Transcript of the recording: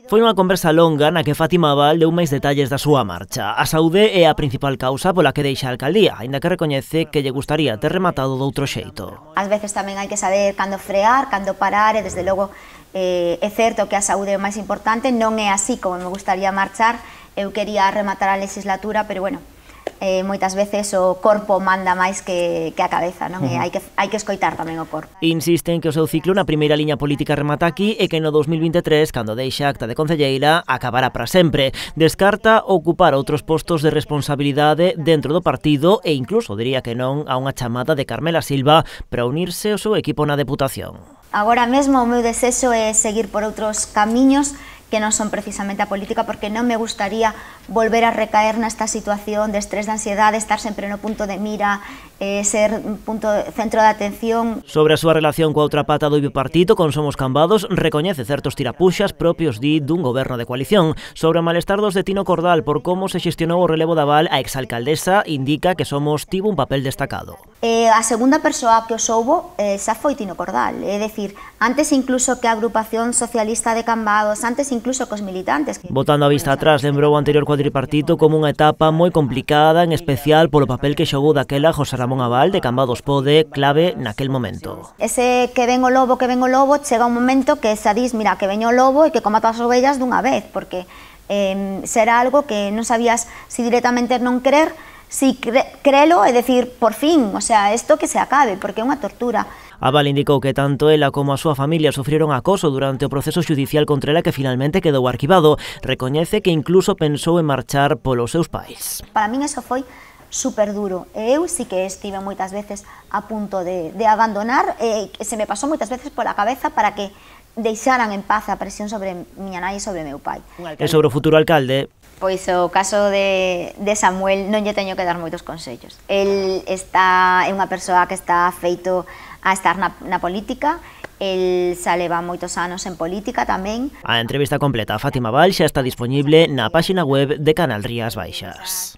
Foi unha conversa longa na que Fátima Abal deu máis detalles da súa marcha. A saúde é a principal causa pola que deixa a alcaldía, aínda que recoñece que lle gustaría ter rematado doutro xeito. Ás veces tamén hai que saber cando frear, cando parar, e desde logo é certo que a saúde é o máis importante, non é así como me gustaría marchar. Eu quería rematar a legislatura, pero bueno, moitas veces o corpo manda máis que a cabeza, non? E hai que escoitar tamén o corpo. Insisten que o seu ciclo na primeira liña política remata aquí e que no 2023, cando deixa a acta de concelleira, acabará para sempre. Descarta ocupar outros postos de responsabilidade dentro do partido e incluso diría que non a unha chamada de Carmela Silva para unirse ao seu equipo na Deputación. Agora mesmo o meu desexo é seguir por outros camiños que non son precisamente a política, porque non me gustaría volver a recaer nesta situación de estrés, de ansiedade, estar sempre no punto de mira, ser un centro de atención. Sobre a súa relación coa outra pata do bipartito, con Somos Cambados, recoñece certos tirapuxas propios dun goberno de coalición. Sobre o malestar dos de Tino Cordal por como se xestionou o relevo da Abal, a exalcaldesa indica que Somos tivo un papel destacado. A segunda persoa que o soubo xa foi Tino Cordal, é dicir, antes incluso que a agrupación socialista de Cambados, antes incluso cos militantes. Botando a vista atrás, lembrou o anterior cuadripartito como unha etapa moi complicada, en especial polo papel que xogou daquela José Ramón Abal de Cambados Pode, clave naquel momento. Ese que ven o lobo, chega un momento que xa dis, mira, que veño o lobo e que coma todas as ovellas dunha vez, porque será algo que non sabías si directamente non querer, si crelo, é dicir, por fin, o sea, isto que se acabe, porque é unha tortura. Abal indicou que tanto ela como a súa familia sufrieron acoso durante o proceso judicial contra ela que finalmente quedou arquivado. Recoñece que incluso pensou en marchar polos seus pais. Para min eso foi super duro. Eu sí que estive moitas veces a punto de abandonar, se me pasou moitas veces pola cabeza para que deixaran en paz a presión sobre miña nai e sobre meu pai. E sobre o futuro alcalde? Pois o caso de Samuel non lle teño que dar moitos consellos. El é unha persoa que está feito a estar na política, el xa leva moitos anos en política tamén. A entrevista completa a Fátima Abal xa está disponible na páxina web de Canal Rías Baixas.